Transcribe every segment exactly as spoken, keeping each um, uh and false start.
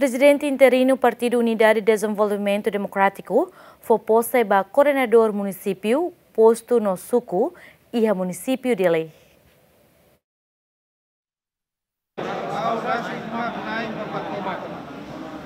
Prezidente interinu Partidu Unidade Dezenvolvimentu Demokrátiku fó pose ba koordenadór munisípiu, postu no suku iha munisípiu Dili.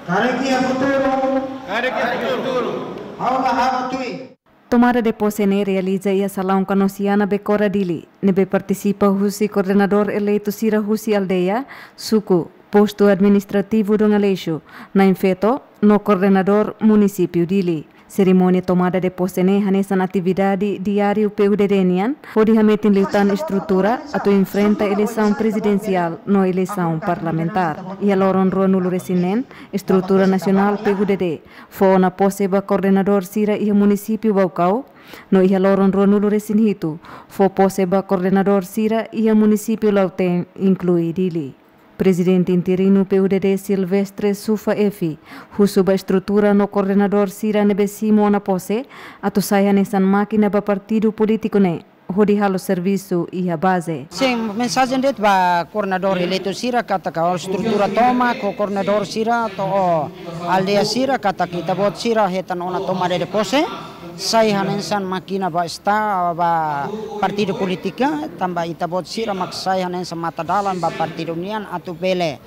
Karik iha futuru, karik iha futuru, ha'u la halo tuir. Tomada de pose ne'e realiza iha Salaun Kanosiana, Bekora, Dili, ne'ebé partisipa husi koordenadór eleitu sira husi aldeia, suku, postu administrativu Dom Aleixo, na'in-feto, no koordenadór munisípiu Dili. Serimónia tomada de pose ne'e hanesan atividade diáriu P U D D nian, hodi hametin liután estrutura atu enfrenta eleisaun prezidensiál no eleisaun parlamentár. Iha loron ruanulu-resin-neen, estrutura nasionál P U D D fó ona pose ba koordenadór sira iha munisípiu Baucau, no iha loron ruanulu-resin-hitu, fó pose ba koordenadór sira iha munisípiu Lautém, inklui Dili. Prezidente interinu P U D D Silvestre Sufa Efi husu ba estrutura no koordenadór sira ne'ebé simu ona pose atu sai hanesan mákina ba partidu polítiku ne'e hodi halo servisu iha baze. Sin, mensajen de'it ba koordenadór eleitu sira katak ho estrutura tomak, ho koordenadór sira to'o aldeia sira katak ita-boot sira hetan ona tomada de pose, sai hanesan mákina ba esta, ba partidu polítika, tanba ita-boot sira mak sai hanesan mata-dalan ba partidu nian atu bele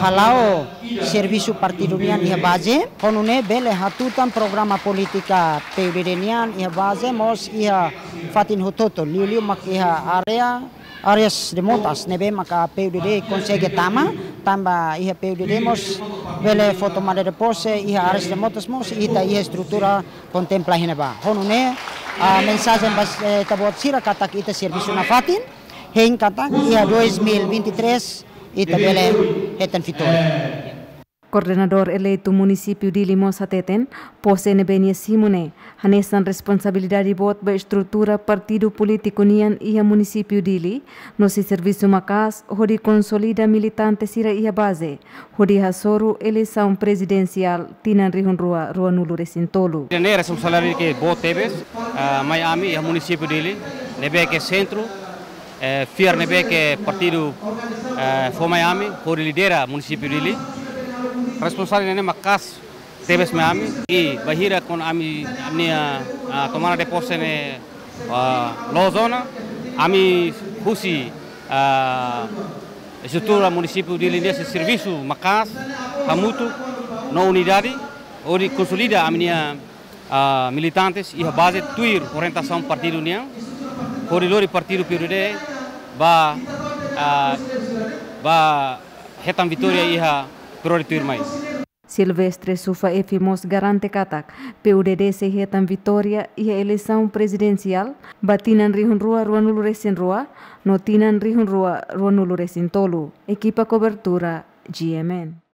hala'o servisu partidu nian iha baze. Ho nune'e bele hatutan programa polítika P U D D nian iha baze mós iha fatin hotu-hotu, liuliu mak iha área, áreas remotas ne'ebé maka P U D D konsege tama, tanba iha P U D D mós bele fó tomada de pose iha áreas remotas mós ita iha estrutura kontempla iha ne'ebá. Ho nune'e, ah, mensajen ba, eh, ita-boot sira katak ita servisu nafatin, hein katak iha dois mil e vinte e três ita bele hetan vitória. Koordenadór eleitu munisípiu Dili mós hateten, pose ne'ebé nia simu ne'e hanesan responsabilidade boot ba estrutura partidu polítiku nian iha munisípiu Dili, no sei servisu maka'as hodi konsolida militante sira iha baze, hodi hasoru eleisaun prezidensiál tinan rihun rua ruanulu-resin-tolu. Ne'e responsabilidade ke boot tebes, ah, mai ami iha munisípiu Dili, ne'ebé ke sentru, eh, fiar ne'ebé ke partidu, eh, fó mai ami, hodi lidera munisípiu Dili. Responsabilidade ne'e maka'as tebes mai ami, i bainhira kuandu ami, ami-nia, ah, tomada de pose ne'e, ah, loos ona, ami husi, ah, estrutura munisípiu Dili nian sei servisu maka'as, hamutuk, no unidade, hodi konsolida ami-nia, ah, militantes iha baze tuir orientasaun partidu nian, hodi lori partidu P U D D ba, ah, ba hetan vitória iha períodu tuirmai. Silvestre Sufa Efi mós garante katak P U D D sei hetan vitória iha eleisaun prezidensiál ba tinan rihun rua ruanulu-resin-rua no tinan rihun rua ruanulu-resin-tolu. Ekipa kobertura, G M N.